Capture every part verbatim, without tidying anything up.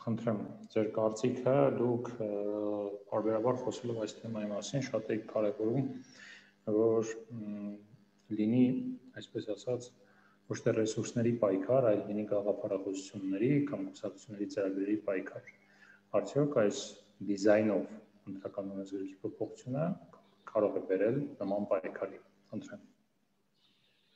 Խնդրեմ, ձեր կարծիքը դուք բարբերաբար խոսելով այս թեմայի մասին շատ եք կարևորում, որ լինի, այսպես ասած, ոչ թե ռեսուրսների պայքար, այլ լինի գաղափարախոսությունների կամ կուսակցությունների ծրագրերի պայքար։ Արդյոք այս դիզայնով ընտրական օրենսգրքի փոփոխությունը կարող է բերել նման պայքարի։ Խնդրեմ։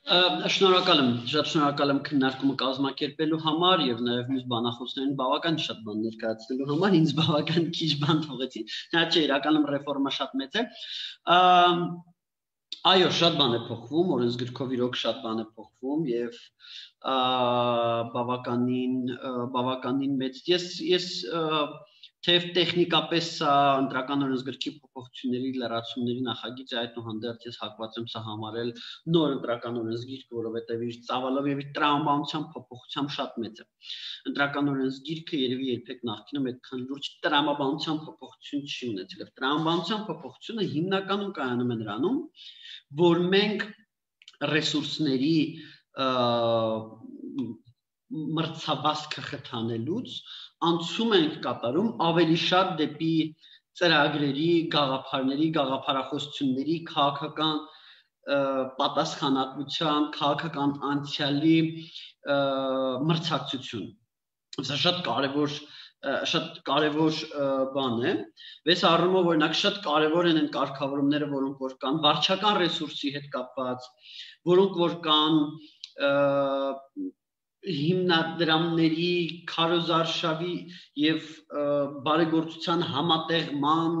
Շնորհակալ եմ, շատ շնորհակալ եմ քննարկումը կազմակերպելու համար եւ նաեւ մյուս բանախոսներին բավական շատ բան ներկայացնելու համար, ինձ բավական քիչ բան թողեցի։ Նա չէ, իրականում ռեֆորմա շատ մեծ է։ Այո, շատ բան է փոխվում, օրենսգրքով իրոք շատ բան է փոխվում եւ բավականին բավականին մեծ։ Ես ես թեև տեխնիկապես սա ընտրական օրենսգրքի փոփոխությունների լրացումների նախագիծ է, այդուհանդերձ ես հակված եմ սա համարել նոր ընտրական օրենսգիրք, որովհետև իր ծավալով եւ իր տրամաբանության փոփոխությամբ շատ մեծ է։ Ընտրական օրենսգիրքը երևի երբեք նախկինում այդքան լուրջ տրամաբանության փոփոխություն չի ունեցել։ Եվ տրամաբանության փոփոխությունը հիմնականում կայանում է նրանում, որ մենք ռեսուրսների մրցավազքը խթանելուց անցում ենք կատարում ավելի շատ դեպի ծրագրերի, գաղափարների, գաղափարախոսությունների, քաղաքական պատասխանատվության, քաղաքական անցյալի մրցակցություն։ Սա շատ կարևոր շատ կարևոր բան է։ Վես առումով օրինակ շատ կարևոր են այն կարգավորումները, որոնք որ կան վարչական ռեսուրսի հետ կապված, որոնք որ կան հիմնադրամների քարոզարշավի եւ բարեգործության համատեղման,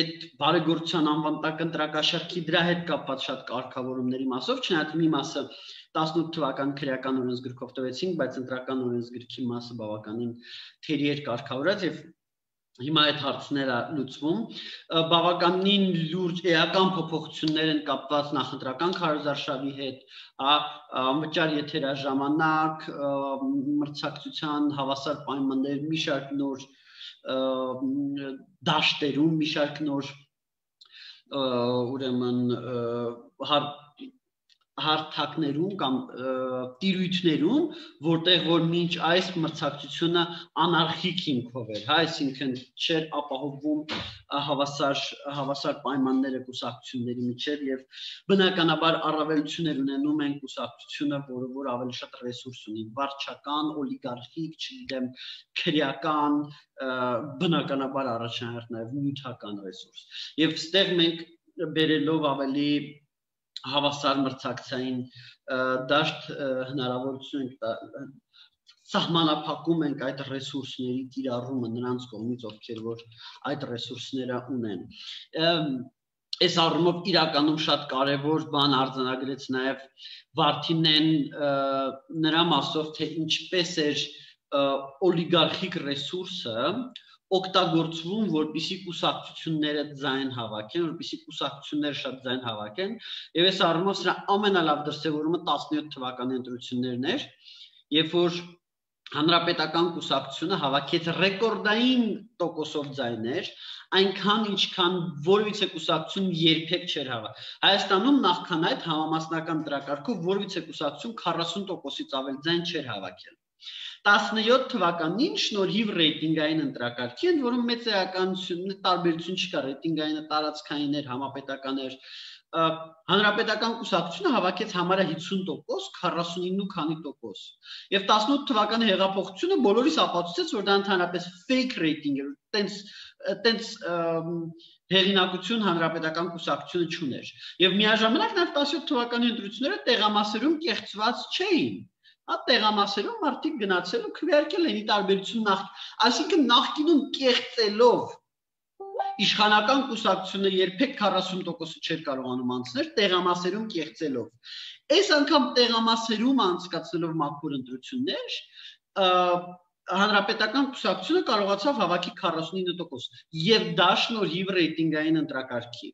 այդ բարեգործության անվան տակ ընտրակաշարքի դրա հետ կապված շատ կարգավորումների մասով, չնայած մի մասը տասնութ թվական քրեական օրենսգրքով տվեցինք, բայց ընտրական օրենսգրքի մասը բավականին թերի էր կարգավորած եւ հիմա այդ հարցները լուծվում, բավականին լուրջ էական փոփոխություններ են կապված նախընտրական քարոզարշավի հետ, անվճար եթերաժամանակ, մրցակցության հավասար պայմաններ, մի շարք նոր դաշտերում, մի շարք նոր ուրեմն հարթակներում կամ տիրույթներում, որտեղ որ մինչ այս մրցակցությունը անարխիկ հիմքով էր, հա, այսինքն չէր ապահովում հավասար հավասար պայմանները կուսակցությունների միջև եւ բնականաբար առավելություններ ունենում են կուսակցությունը, որը որ ավելի շատ ռեսուրս ունի, վարչական, օլիգարխիկ, չգիտեմ, քրեական, բնականաբար առաջնահերթ նաեւ նյութական ռեսուրս։ Եվ ստեղ մենք բերելով ավելի հավասար մրցակցային դաշտ հնարավորություն ենք սահմանափակում ենք այդ ռեսուրսների կիրառումը նրանց կողմից, ովքեր որ այդ ռեսուրսները ունեն։ Այս առումով իրականում շատ կարևոր բան արձանագրեց նաև Վարդինեն նրա մասով, թե ինչպես էր օլիգարխիկ ռեսուրսը օգտագործվում, որպեսզի կուսակցությունները ձայն հավաքեն, որպեսզի կուսակցությունները շատ ձայն հավաքեն, եւ այս առումով սրա ամենալավ դրսեւորումը տասնյոթ թվականի ընտրություններն էր, երբ որ հանրապետական կուսակցությունը հավաքեց ռեկորդային տոկոսով ձայներ, այնքան ինչքան որևիցե կուսակցություն երբեք չէր հավաքել։ Հայաստանում նախքան այդ համամասնական դրակարգով որևիցե կուսակցություն քառասուն տոկոսից ավել ձայն չէր հավաքել։ տասնյոթ թվականին շնորհիվ ռեյտինգային ընտրակարգի, ընդ որում մեծ էականություն տարբերություն չկա, ռեյտինգայինը տարածքային էր, համապետական էր, հանրապետական կուսակցությունը հավաքեց համարյա հիսուն տոկոս, քառասունինը քանի տոկոս։ Եվ տասնութ թվականի հեղափոխությունը բոլորիս ապացուցեց, որ դա ընդհանրապես fake rating էր, տենց տենց հեղինակություն հանրապետական կուսակցությունը չուներ։ Եվ միաժամանակ նաև տասնյոթ թվականի ընտրությունները տեղամասերում կեղծված չէին։ Հա տեղամասերում մարդիկ գնացել ու քվեարկել են ի տարբերություն նախ, այսինքն նախկինում կեղծելով իշխանական կուսակցությունը երբեք քառասուն տոկոսը չէր կարողանում անցնել, տեղամասերում կեղծելով։ Այս անգամ տեղամասերում անցկացնելով մաքուր ընտրություններ, հանրապետական կուսակցությունը կարողացավ հավաքի քառասունինը տոկոս, եւ դա շնորհիվ ռեյտինգային ընտրակարգի։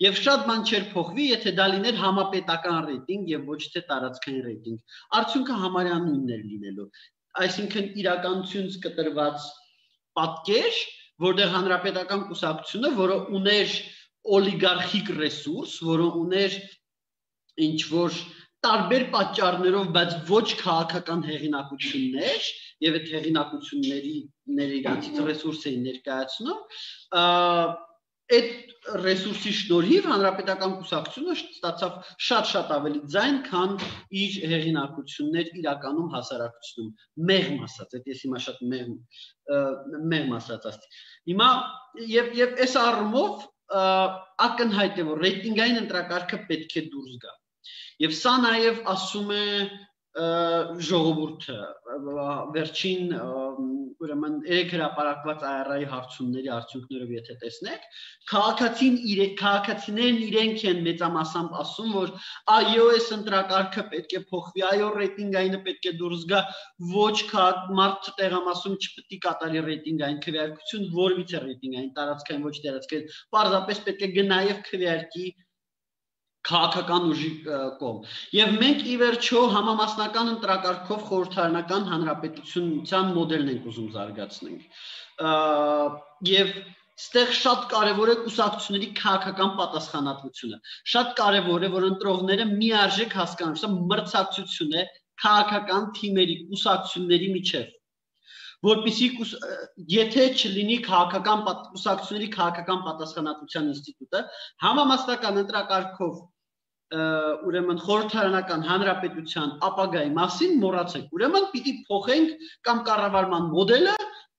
Եվ շատ բան չէր փոխվի, եթե դա լիներ համապետական ռեյտինգ եւ ոչ թե տարածքային ռեյտինգ։ Արդյունքը համարյա նույնն էր լինելու։ Այսինքն իրականությունից կտրված պատկեր, որտեղ հանրապետական կուսակցությունը, որը ուներ օլիգարխիկ ռեսուրս, որը ուներ ինչ որ տարբեր պատճառներով, բայց ոչ քաղաքական հեղինակություններ եւ այդ հեղինակությունների իրացից ռեսուրս էին ներկայացնում, այդ ռեսուրսի շնորհիվ հանրապետական կուսակցությունը ստացավ շատ-շատ ավելի ձայն, քան իր հեղինակություններ իրականում հասարակությունում։ Մեղմ ասած, այդ ես հիմա շատ մեղմ մեղմ ասած ասի։ Հիմա եւ եւ այս առումով ակնհայտ է, որ ռեյտինգային ընտրակարգը պետք է դուրս գա։ Եվ սա նաև ասում է ժողովուրդը, վերջին ուրեմն երեք հրապարակված Այ Առ Այ-ի հարցումների արդյունքներով եթե տեսնեք, քաղաքացիներն իրենք են մեծամասամբ ասում, որ այո, այս ընտրակարգը պետք է փոխվի, այո, ռեյտինգայինը պետք է դուրս գա, ոչ մարդ տեղամասում չպետք է կատարի ռեյտինգային քվեարկություն, որևիցե ռեյտինգային տարածքային ոչ տարածքային, պարզապես պետք է գնա եւ քվեարկի քաղաքական ուժի կողմ։ Եվ մենք ի վերջո համամասնական ընտրակարգով խորհրդարանական հանրապետությունության մոդելն ենք ուզում զարգացնենք։ Եվ ստեղ շատ կարևոր է կուսակցությունների քաղաքական պատասխանատվությունը։ Շատ կարևոր է, որ ընտրողները միարժեք հասկանան, սա մրցակցություն է քաղաքական թիմերի, կուսակցությունների միջև։ Որպեսզի եթե չլինի քաղաքական կուսակցությունների քաղաքական պատասխանատվության ինստիտուտը, համամասնական ընտրակարգով ուրեմն խորհրդարանական հանրապետության ապագայի մասին մոռացեք։ Ուրեմն պիտի փոխենք կամ կառավարման մոդելը,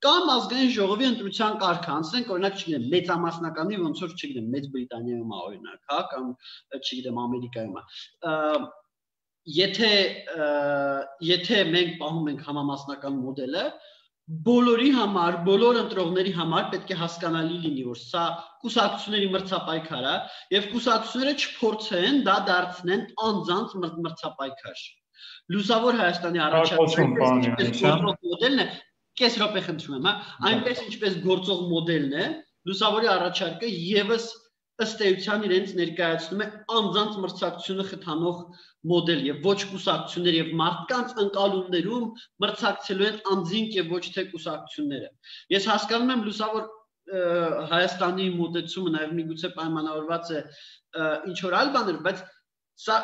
կամ ազգային ժողովի ընտրության կարգը անցնենք, օրինակ, չգիտեմ, մեծամասնականի, ոնց որ չգիտեմ, Մեծ Բրիտանիայում է օրինակ, հա, կամ չգիտեմ, Ամերիկայում է։ Եթե եթե մենք պահում ենք համամասնական մոդելը, բոլորի համար, բոլոր ընտրողների համար պետք է հասկանալի լինի, որ սա կուսակցությունների մրցապայքար է, եւ կուսակցությունները չփորձեն դա դարձնեն անձանց մրցապայքար։ Լուսավոր Հայաստանի առաջարկը մոդելն է, կես րոպե խնդրում եմ, հա, այնպես ինչպես գործող մոդելն է, լուսավորի առաջարկը եւս ըստ էության իրենց ներկայացնում է անձանց մրցակցությունը խթանող մոդել եւ ոչ կուսակցություններ եւ մարդկանց ընկալումներում մրցակցելու են անձինք եւ ոչ թե կուսակցությունները։ Ես հասկանում եմ լուսավոր Հայաստանի մոտեցումը նաեւ միգուցե պայմանավորված է ինչ որ այլ բաներ, բայց սա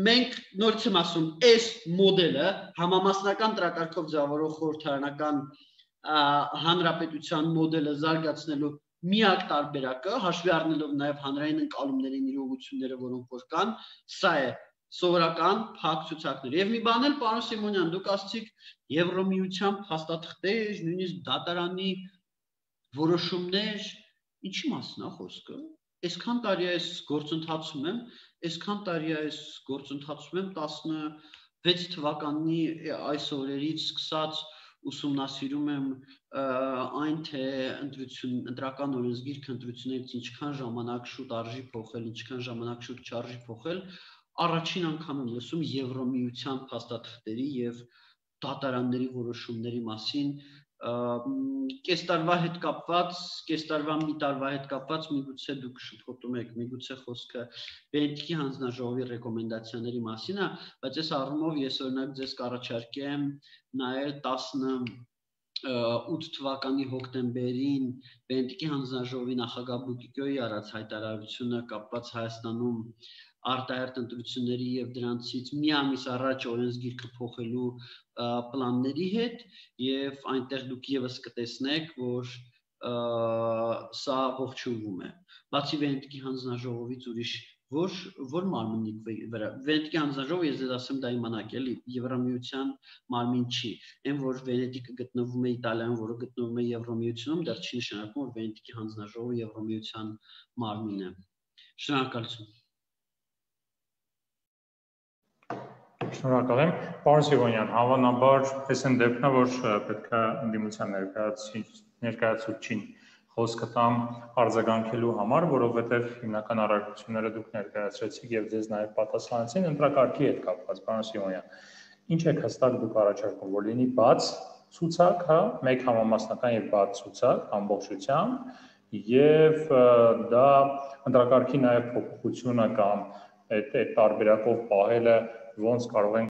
մենք նորից եմ ասում, այս մոդելը համամասնական տրակարգով ձևավորող խորհրդարանական հանրապետության մոդելը զարգացնելու միակ տարբերակը, հաշվի առնելով նաև հանրային ընկալումներին իրողությունները, որոնք որ կան, սա է սովորական փակ ցուցակներ։ Եվ մի բան էլ, պարոն Սիմոնյան, դուք ասացիք Եվրոմիության փաստաթղթեր, նույնիսկ դատարանի որոշումներ, ինչի մասն է խոսքը։ Այսքան տարի այս գործընթացում եմ, այսքան տարի այս գործընթացում եմ տասնվեց թվականի այս օրերից սկսած ուսումնասիրում եմ այն թե ընտրություն ընտրական օրենսգիրք ընտրություններից ինչքան ժամանակ շուտ արժի փոխել, ինչքան ժամանակ շուտ չարժի փոխել, առաջին անգամ եմ լսում Եվրոմիության փաստաթղթերի եւ դատարանների որոշումների մասին, կես տարվա հետ կապված, կես տարվա մի տարվա հետ կապված միգուցե դուք շփոթում եք, միգուցե խոսքը Բենտիկի հանձնաժողովի ռեկոմենդացիաների մասին է, բայց այս առումով ես օրինակ ձեզ կառաջարկեմ նայել տասնութ թվականի հոկտեմբերին Բենտիկի հանձնաժողովի նախագահ Բուտիկոյի արած հայտարարությունը կապված Հայաստանում արտահերթ ընտրությունների եւ դրանցից մի ամիս առաջ օրենսգիրքը փոխելու պլանների հետ եւ այնտեղ դուք եւս կտեսնեք, որ սա ողջունվում է։ Բացի Վենետիկի հանձնաժողովից ուրիշ որ որ մարմնի վրա Վենետիկի հանձնաժողովը ես ձեզ ասեմ դա իմանաք էլի Եվրոմիության մարմին չի։ Այն որ Վենետիկը գտնվում է Իտալիայում, որը գտնվում է Եվրոմիությունում, դա չի նշանակում, որ Վենետիկի հանձնաժողովը Եվրոմիության մարմին է։ Շնորհակալություն։ Շնորհակալ եմ, պարոն Սիմոնյան, հավանաբար այս են դեպքն է, որ պետք է ընդդիմության ներկայացուցչին խոսքը տամ արձագանքելու համար, որովհետև հիմնական առարկությունները դուք ներկայացրեցիք եւ ձեզ նաեւ պատասխանեցին ընտրակարգի հետ կապված, պարոն Սիմոնյան։ Ինչ եք հստակ դուք առաջարկում, որ լինի բաց ցուցակ, հա, մեկ համամասնական եւ բաց ցուցակ ամբողջությամբ եւ դա ընտրակարգի նաեւ փոփոխությունը կամ այդ այդ տարբերակով պահելը ոնց կարող են